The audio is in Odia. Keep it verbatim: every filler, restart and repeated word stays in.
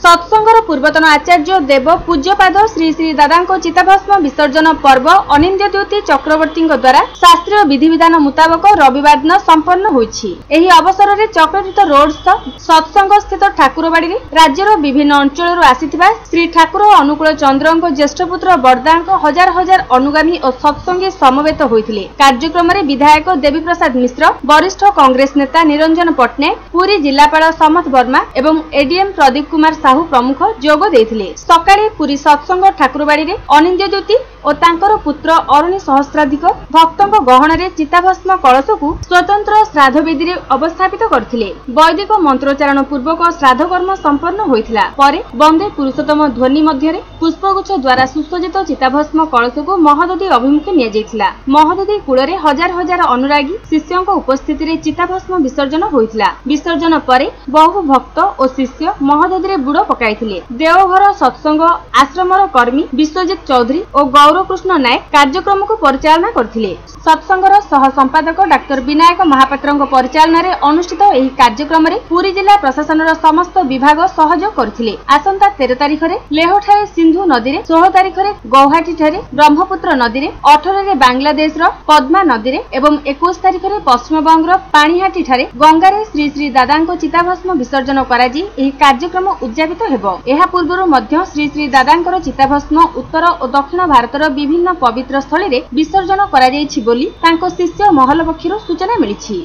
ସତ୍ସଙ୍ଗର ପୂର୍ବତନ ଆଚାର୍ଯ୍ୟ ଦେବ ପୂଜ୍ୟପାଦ ଶ୍ରୀ ଶ୍ରୀ ଦାଦାଙ୍କ ଚିତାଭସ୍ମ ବିସର୍ଜନ ପର୍ବ ଅନିନ୍ଦ୍ୟ ଦ୍ୟୁତି ଚକ୍ରବର୍ତ୍ତୀଙ୍କ ଦ୍ୱାରା ଶାସ୍ତ୍ରୀୟ ବିଧିବିଧାନ ମୁତାବକ ରବିବାର ଦିନ ସମ୍ପନ୍ନ ହୋଇଛି। ଏହି ଅବସରରେ ଚକ୍ରତୀର୍ଥ ରୋଡସ୍ଥ ସତ୍ସଙ୍ଗ ସ୍ଥିତ ଠାକୁରବାଡ଼ିରେ ରାଜ୍ୟର ବିଭିନ୍ନ ଅଞ୍ଚଳରୁ ଆସିଥିବା ଶ୍ରୀ ଠାକୁର ଅନୁକୂଳ ଚନ୍ଦ୍ରଙ୍କ ଜ୍ୟେଷ୍ଠପୁତ୍ର ବରଦାଙ୍କ ହଜାର ହଜାର ଅନୁଗାମୀ ଓ ସତ୍ସଙ୍ଗୀ ସମବେତ ହୋଇଥିଲେ। କାର୍ଯ୍ୟକ୍ରମରେ ବିଧାୟକ ଦେବୀପ୍ରସାଦ ମିଶ୍ର, ବରିଷ୍ଠ କଂଗ୍ରେସ ନେତା ନିରଞ୍ଜନ ପଟ୍ଟନାୟକ, ପୁରୀ ଜିଲ୍ଲାପାଳ ସମଥ ବର୍ମା ଏବଂ ଏଡିଏମ୍ ପ୍ରଦୀପ କୁମାର ସାହୁ ପ୍ରମୁଖ ଯୋଗ ଦେଇଥିଲେ। ସକାଳେ ପୁରୀ ସତ୍ସଙ୍ଗ ଠାକୁରବାଡ଼ିରେ ଅନିନ୍ଦ୍ୟ ଦ୍ୟୁତି ଓ ତାଙ୍କର ପୁତ୍ର ଅରୁଣୀ ସହସ୍ରାଧିକ ଭକ୍ତଙ୍କ ଗହଣରେ ଚିତାଭସ୍ମ କଳସକୁ ସ୍ୱତନ୍ତ୍ର ଶ୍ରାଦ୍ଧବେଦୀରେ ଅବସ୍ଥାପିତ କରିଥିଲେ। ବୈଦିକ ମନ୍ତ୍ରୋଚ୍ଚାରଣ ପୂର୍ବକ ଶ୍ରାଦ୍ଧକର୍ମ ସମ୍ପନ୍ନ ହୋଇଥିଲା। ପରେ ବନ୍ଦେ ପୁରୁଷୋତ୍ତମ ଧ୍ୱନି ମଧ୍ୟରେ ପୁଷ୍ପଗୁଚ୍ଛ ଦ୍ୱାରା ସୁସଜ୍ଜିତ ଚିତାଭସ୍ମ କଳସକୁ ମହୋଦଧି ଅଭିମୁଖେ ନିଆଯାଇଥିଲା। ମହୋଦଧି କୂଳରେ ହଜାର ହଜାର ଅନୁରାଗୀ ଶିଷ୍ୟଙ୍କ ଉପସ୍ଥିତିରେ ଚିତାଭସ୍ମ ବିସର୍ଜନ ହୋଇଥିଲା। ବିସର୍ଜନ ପରେ ବହୁ ଭକ୍ତ ଓ ଶିଷ୍ୟ ମହୋଦଧିରେ ବୁଡ଼ ପକାଇଥିଲେ। ଦେଓଘର ସତ୍ସଙ୍ଗ ଆଶ୍ରମର କର୍ମୀ ବିଶ୍ୱଜିତ ଚୌଧୁରୀ ଓ ଗୌରକୃଷ୍ଣ ନାୟକ କାର୍ଯ୍ୟକ୍ରମକୁ ପରିଚାଳନା କରିଥିଲେ। ସତ୍ସଙ୍ଗର ସହ ସମ୍ପାଦକ ଡାକ୍ତର ବିନାୟକ ମହାପାତ୍ରଙ୍କ ପରିଚାଳନାରେ ଅନୁଷ୍ଠିତ ଏହି କାର୍ଯ୍ୟକ୍ରମରେ ପୁରୀ ଜିଲ୍ଲା ପ୍ରଶାସନର ସମସ୍ତ ବିଭାଗ ସହଯୋଗ କରିଥିଲେ। ଆସନ୍ତା ତେର ତାରିଖରେ ଲେହଠାରେ ସିନ୍ଧୁ ନଦୀରେ, ଷୋହଳ ତାରିଖରେ ଗୌହାଟୀଠାରେ ବ୍ରହ୍ମପୁତ୍ର ନଦୀରେ, ଅଠରରେ ବାଂଲାଦେଶର ପଦ୍ମା ନଦୀରେ ଏବଂ ଏକୋଇଶ ତାରିଖରେ ପଶ୍ଚିମବଙ୍ଗର ପାଣିହାଟୀଠାରେ ଗଙ୍ଗାରେ ଶ୍ରୀ ଶ୍ରୀ ଦାଦାଙ୍କ ଚିତାଭସ୍ମ ବିସର୍ଜନ କରାଯାଇ ଏହି କାର୍ଯ୍ୟକ୍ରମ ଉଦଯାପିତ ହେବ। ଏହା ପୂର୍ବରୁ ମଧ୍ୟ ଶ୍ରୀ ଶ୍ରୀ ଦାଦାଙ୍କର ଚିତାଭସ୍ମ ଉତ୍ତର ଓ ଦକ୍ଷିଣ ଭାରତର ବିଭିନ୍ନ ପବିତ୍ର ସ୍ଥଳୀରେ ବିସର୍ଜନ କରାଯାଇଛି ବୋଲି ତାଙ୍କ ଶିଷ୍ୟ ମହଲ ପକ୍ଷରୁ ସୂଚନା ମିଳିଛି।